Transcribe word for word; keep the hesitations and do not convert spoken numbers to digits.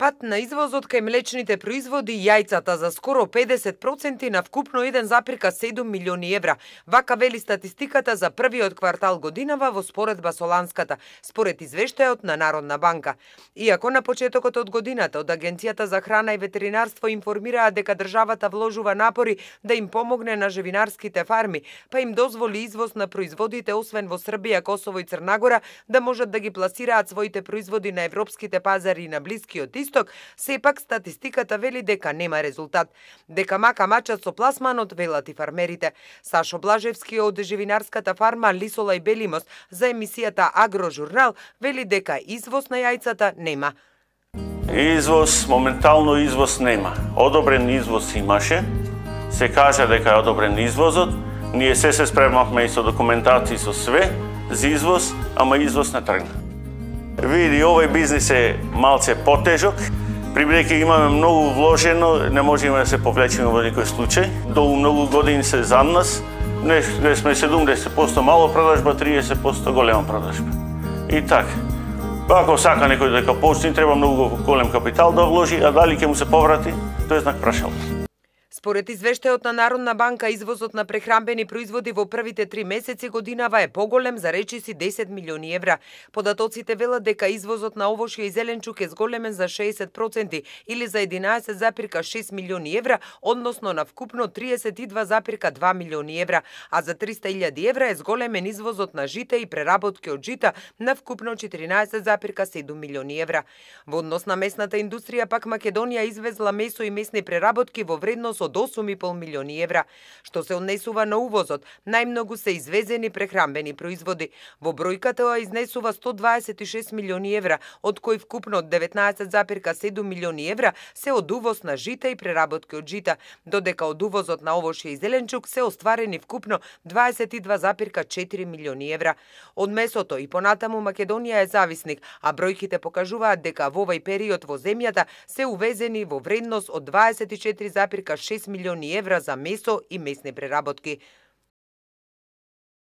Пат на извозот кај млечните производи и јајцата за скоро педесет проценти на вкупно еден запирка седум милиони евра. Вака вели статистиката за првиот квартал годинава во споредба со ланската, според извештајот на Народна банка. Иако на почетокот од годината од Агенцијата за храна и ветеринарство информираа дека државата вложува напори да им помогне на живинарските фарми, па им дозволи извоз на производите освен во Србија, Косово и Црнагора да можат да ги пласираат своите производи на европските пазари и на Блискиот Исток, сепак статистиката вели дека нема резултат. Дека мака мачат со пласманот, велат и фармерите. Сашо Блажевски од живинарската фарма Лисола и Белимос за емисијата Агрожурнал вели дека извоз на јајцата нема. Извоз, моментално извоз нема. Одобрен извоз имаше. Се кажа дека е одобрен извозот. Ние се се спремавме и со документација со све за извоз, ама извоз не тргна. Види, овој бизнис е малце потежок, прибејќи имаме многу вложено, не можеме да се повлечеме во никој случај. Долу многу години се за нас, не, не сме седумдесет проценти мало продажба, триесет проценти голема продажба. И така. Ако сака некој дека почне, треба многу голем капитал да вложи, а дали ќе му се поврати, тој е знак прашал. Според извештајот на Народна банка, извозот на прехрамбени производи во првите три месеци годинава е поголем за речиси десет милиони евра. Податоците велат дека извозот на овошје и зеленчук е зголемен за шеесет проценти или за единаесет запирка шест милиони евра, односно на вкупно триесет и два запирка два милиони евра, а за триста илјади евра е зголемен извозот на жите и преработки од жита на вкупно четиринаесет запирка седум милиони евра. Во однос на месната индустрија пак Македонија извезла месо и месни преработки во вредност од осум и пол милиони евра. Што се однесува на увозот, најмногу се извезени прехрамбени производи. Во бројката тоа изнесува сто дваесет и шест милиони евра, од кои вкупно деветнаесет запирка седум милиони евра се од увоз на жита и преработки од жита, додека од увозот на овошје и зеленчук се остварени вкупно дваесет и два запирка четири милиони евра. Од месото и понатаму Македонија е зависник, а бројките покажуваат дека во овој период во земјата се увезени во вредност од дваесет и четири запирка шест милиони евра за месо и месни преработки.